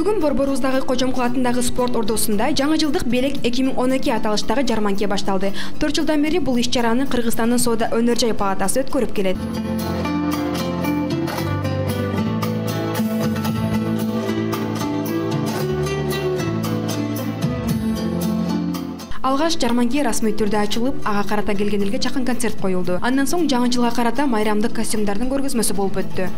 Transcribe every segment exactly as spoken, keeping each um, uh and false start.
Бүгүн Борборуздагы Кожомкул атындагы спорт ордосунда жаңы жылдык белек эки миң он эки аталыштагы жарманке башталды. төрт жылдан бери бул иш-чараны Кыргызстандын Соода өнөр жай палатасы өткөрүп келет. Алгаш жарманке расмий түрдө ачылып, ага карата келген элге чакын концерт коюлду. Андан соң жаңы жылга карата майрамдык костюмдардын көргөзмөсү болуп өттү.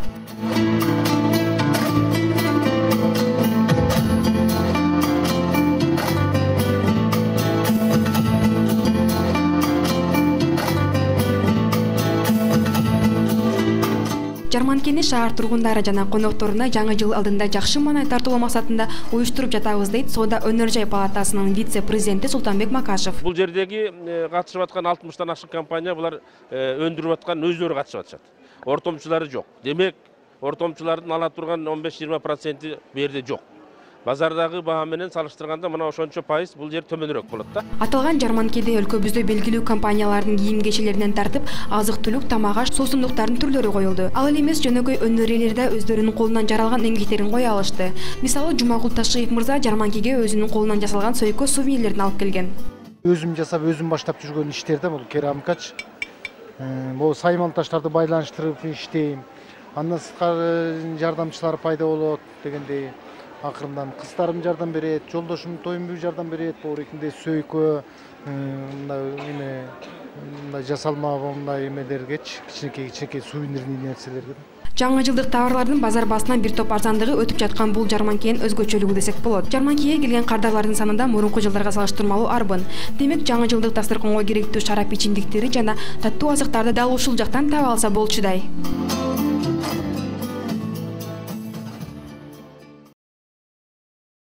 Жарманкени шаар тургундары жана конокторуна жаңы жыл алдында жакшы маанай тартуулоо максатында уюштуруп жатабыз дейт Соода өнөр жай палатасынын вице-президенти Султанбек Макашев. Бул жердеги катышып аткан алтымыштан ашык компания булар өндүрүп аткан өздөрү катышып атышат. Ортомчулары жок. Демек, ортомчулардын ала турган он беш жыйырма проценти бу жерде жок. Базардагы баа менен салыштырганда мына ошончо пайыз бул жер төмөнүрөөк болот да. Аталган жарманкеде өлкөбүздө белгилүү компаниялардын кийим-кечелеринен тартып, азык-түлүк, тамак-аш, суусундуктардын түрлөрү коюлду. Ал эле эмес жөнөкөй өнөр ээлери да өздөрүнүн колунан жаралган эмгектерин кое алышты. Мисалы, Жумагул Ташиев мырза жарманкеге өзүнүн колунан жасалган сойко сувенирлерин алып келген. Өзүм жасап, өзүм баштап жүргөн иштерде бул керамикач. Бул сайман таштарды байланыштырып иштейм. Андан сырткары жардамчылар пайда болот дегендей. Акырындан кыздарым жардам берет, жолдошум Тоюмбек жардам берет, богорекинде сөйкө, мындай эме, мындай жасалма мындай эмелергечи, кичинекей-кичинекей сувенирный нерселерге. Жаңы жылдык товарлардын базар басынан бир топ арзандыгы өтүп жаткан бул жарманкенин өзгөчөлүгү десек болот. Жарманкеге келген кардарлардын санында мурунку жылдарга салыштырмалуу арбын. Демек, жаңы жылдык дасторконго керектүү шарап ичимдиктери жана таттуу азыктарды дал ушул жактан таап алса болчудай.